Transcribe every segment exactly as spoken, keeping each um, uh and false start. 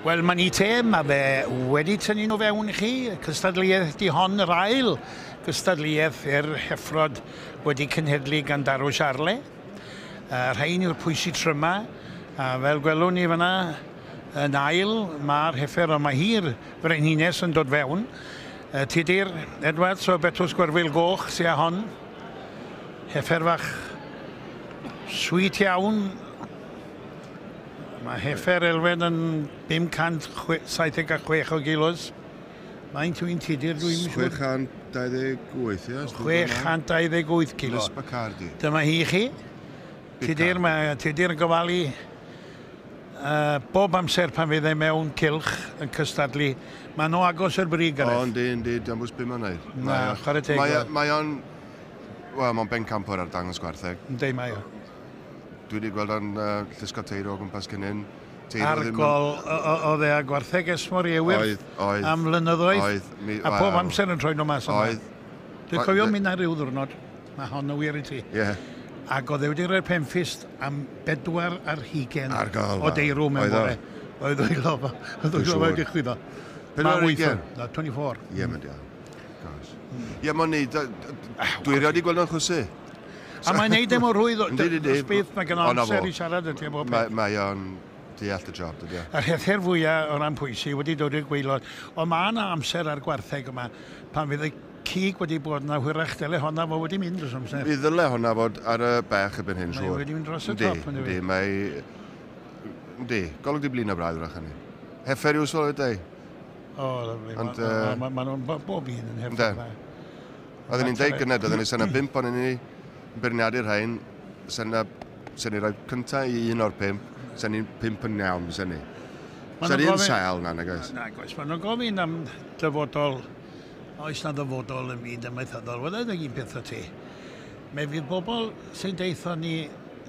Wel, mae'n i te, mae fe wedi tynnu nhw fewn i chi. Cystadleuaeth di hon, yr ail gystadleuaeth i'r heffrod wedi cenhedlu gan Darw Siarle. Uh, rhain yw'r pwysi tryma, a fel gwelwn ni fyna, yn ail, mae'r heffer, ond mae hi'r frenhines yn dod fewn. Uh, Tudur Edwards o Betws Gwerfyl Goch sy â hon. Heffer fach sweet iawn. Mae heffer Elfen yn bum cant saith deg chwech o gilos. Mae'n twyn Tudur, dwi'n siŵr. chwe chant dau ddeg wyth, ie? chwe chant dau ddeg wyth kilo. Liz Bacardi. Dyma hi chi. Tudur, mae Tudur yn gofalu uh, bob amser pan fydd e mewn cylch yn cystadlu. Mae nhw agos i'r brig, Gareth. O, yndi, yndi, dim bwys beth mae'n neud. Na, chwarae teg. Mae, mae o'n, wel, mae'n bencampwr ar dangos gwartheg. Yndi, mae o. Dwi wedi gweld o'n uh, llusgo teiro o gwmpas cyn hyn. Argol oedd e a gwartheg Esmor i Ewyr am flynyddoedd. Oedd. Mi, a pob amser yn troi nhw mas yma. Oedd. Dwi'n cofio mynd ar ryw ddiwrnod, mae hon yn wir i ti. Ie. Yeah. Ac oedd e wedi rhoi'r penffist am bedwar ar hugain Argol, o deirw mewn bore. Oedd o'i lofa. Oedd o'i lofa wedi chwyddo. Pedwar ar hugain? Na, twenty-four. Ie, mae'n diolch. Ie, mae'n neud. Dwi erioed wedi gweld o'n chwysu. A mae'n neud e mor rhwydd, os byth, mae gen o amser i siarad y ti am bob peth. Mae o'n deall y job, dydy o. Yr heffer fwyaf o ran pwysi wedi dod i'r gwaelod. Ond mae yna amser ar gwartheg yma pan fydd y cig wedi bod yna, hwyrach dyle honna fo wedi mynd dros amser. Mi ddyle honna fod ar y bech erbyn hyn, siŵr. Mae wedi mynd dros y top. Yndi, mae... Yndi, golwg di blin o braidd wrach hynny. Heffer yw'r sôn wedi. O, lyfli. Mae nhw'n bob un yn heffer. Oedden ni'n deud gynted, oedden ni'n sena bump o'n ni beirniadu'r rhain, sen ni roi cyntaf i un o'r pump, sen ni'n pump yn iawn, sen ni. Sen ni'n sael na, nag oes? Nag oes. Maen nhw'n gofyn am dyfodol, oes na ddyfodol yn byd amaethyddol. Wel, yna un peth o ti. Mae fydd bobl sy'n deitho ni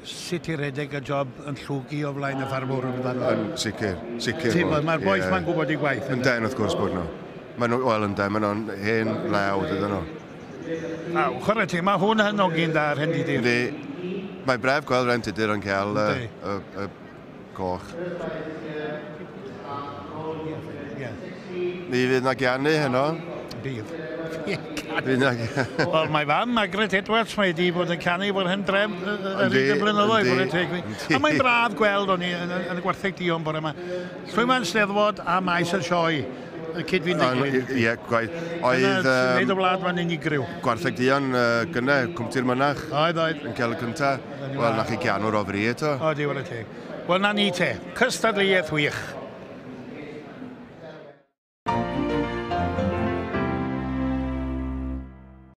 sut i redeg y job yn llwgu o flaen y ffarmwr amdano. Yn sicr, sicr. Ti'n bod, mae'r bois ma'n gwybod eu gwaith. Ynden, wrth gwrs bod nhw. Maen nhw, wel, ynden, maen nhw'n hen lew, dydyn nhw. Na, chwarae ti, mae hwn yn hogyn da ar Hen Tudur. Yndi. Mae'n bref gweld Ren Tudur yn cael y, y, y goch. Mi fydd na gianu heno. Bydd. Fydd na... Wel, mae fam, Margaret Edwards, mae wedi bod yn canu fo'r hen dref yr un blynyddoedd. A mae'n braf gweld o'n i yn y gwartheg duon bore yma. Llwyfan Steddfod a maes y sioe. Cyd-fynd â'i gilydd. Ie, gwaith. Oedd... Wneud y wlad ma'n unigryw. Gwartheg duon gynne, Cwmtir Mynach. Oedd, oedd. Yn cael y cynta. Wel, na chi gianwr o fri eto. O, di, wara teg. Wel, na ni te. Cystadleuaeth wych.